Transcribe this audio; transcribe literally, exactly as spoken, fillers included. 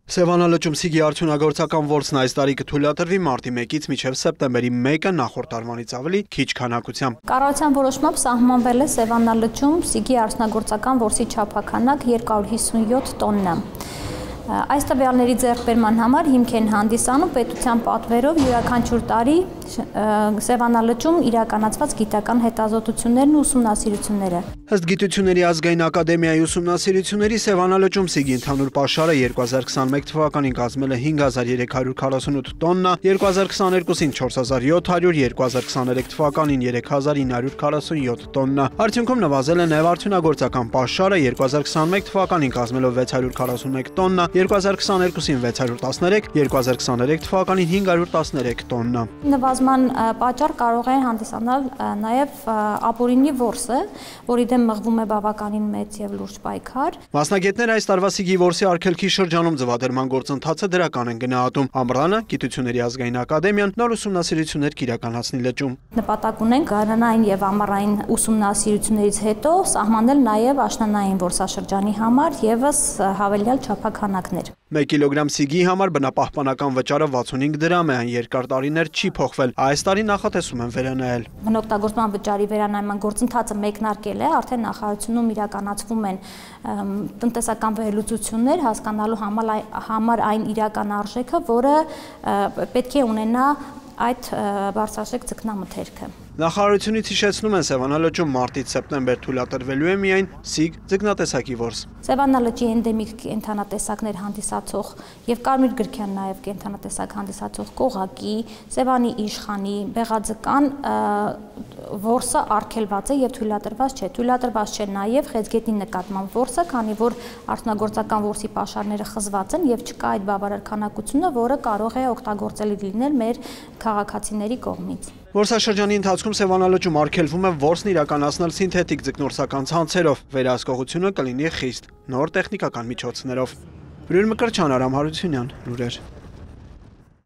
Սևանալճում Սիգի արդյունագործական որսն այս տարի կթույլատրվի մարտի մեկից մինչև սեպտեմբերի մեկը նախորդ տարվանից ավելի քիչ քանակությամբ։ Կառավարության որոշմամբ սահմանվել է Սևանալճում Սիգի արդյունագործական որսի չափաքանակ երկու հարյուր հիսունյոթ տոննա։ Այս տվյալների ձեռքբերման համար հիմք են հանդիսանում պետության պատվերով յուրաքանչյուր տարի Սևանալճում իրականացված գիտական հետազոտություններն ու ուսումնասիրությունները։ Ըստ Գիտությունների ազգային ակադեմիայի ուսումնասիրությունների Սևանալճում Սիգի ընդհանուր պաշարը երկու հազար քսաներեք թվականին կազմել է հինգ հազար երեք հարյուր քառասունութ տոննա, երկու հազար քսաներկուսին չորս հազար յոթ հարյուր, երկու հազար քսաներեք թվականին երեք հազար ինը հարյուր քառասունյոթ տոննա։ Արդյունքում նվազել է նաև արդյունագործական պաշարը երկու հազար քսաներեք թվականին կազմելով վեց հարյուր քառասունմեկ տոննա, երկու հազար քսաներկուսին վեց հարյուր տասներեք, երկու հազար քսաներեք թվականին հինգ հարյուր տասներեք տոննա։ Նվազման պատճառ կարող է հանդիսանալ նաև ապօրինի որսը, որի դեմ մղվում է բավականին մեծ եւ լուրջ պայքար։ Մասնագետները այս տարվա Սիգի որսի արգելքի շրջանում ձվադրման գործընթացը դրական են գնահատում։ Ամռանը Գիտությունների ազգային ակադեմիան նոր ուսումնասիրություններ կիրականացնի լճում։ Նպատակ ունենք գարանային եւ ամառային ուսումնասիրություններից հետո սահմանել նաև աշնանային որսաշրջանի համար եւս հավելյալ չափաքանակներ։ մեկ կիլոգրամ Սիգի համար բնապահպանական վճարը վաթսունհինգ դրամ է, այն երկար տարիներ չի փոխվել։ Այս տարի նախատեսում են վերանայել։ Բնօգտագործման վճարի վերանայման գործընթացը մեկնարկել է, արդեն նախարարությունում իրականացվում են տնտեսական վերլուծություններ, հասկանալու համար այն իրական արժեքը, որը պետք է ունենա այդ բարձրաշեք ձկնամթերքը։ Նախարարությունից հիշեցնում են Սևանալճում մարտից սեպտեմբեր թույլատրվելու է միայն Սիգ ձկնատեսակի որս։ Սևանալճի էնդեմիկ կենդանատեսակներ հանդիսացող եւ կարմիր գրքյան նաեւ կենդանատեսակ հանդիսացող կողակի, Սևանի իշխանի, բեղաձկան որսը արգելված է եւ թույլատրված չէ։ Թույլատրված չէ նաեւ խեցգետնի նկատմամբ որսը, քանի որ արդյունագործական որսի պաշարները խզված են եւ չկա այդ բավարար քանակությունը, որը կարող է օգտագործելի լինել մեր քաղաքացիների կողմից։ Որսաշրջանի ընթացքում Սևանալճում արգելվում է որսն իրականացնել սինթետիկ ձկնորսական ցանցերով, վերահսկողությունը կլինի խիստ, նոր տեխնիկական միջոցներով։ Բրույլ Մկրտչյան, Արամ Հարությունյան, լուրեր։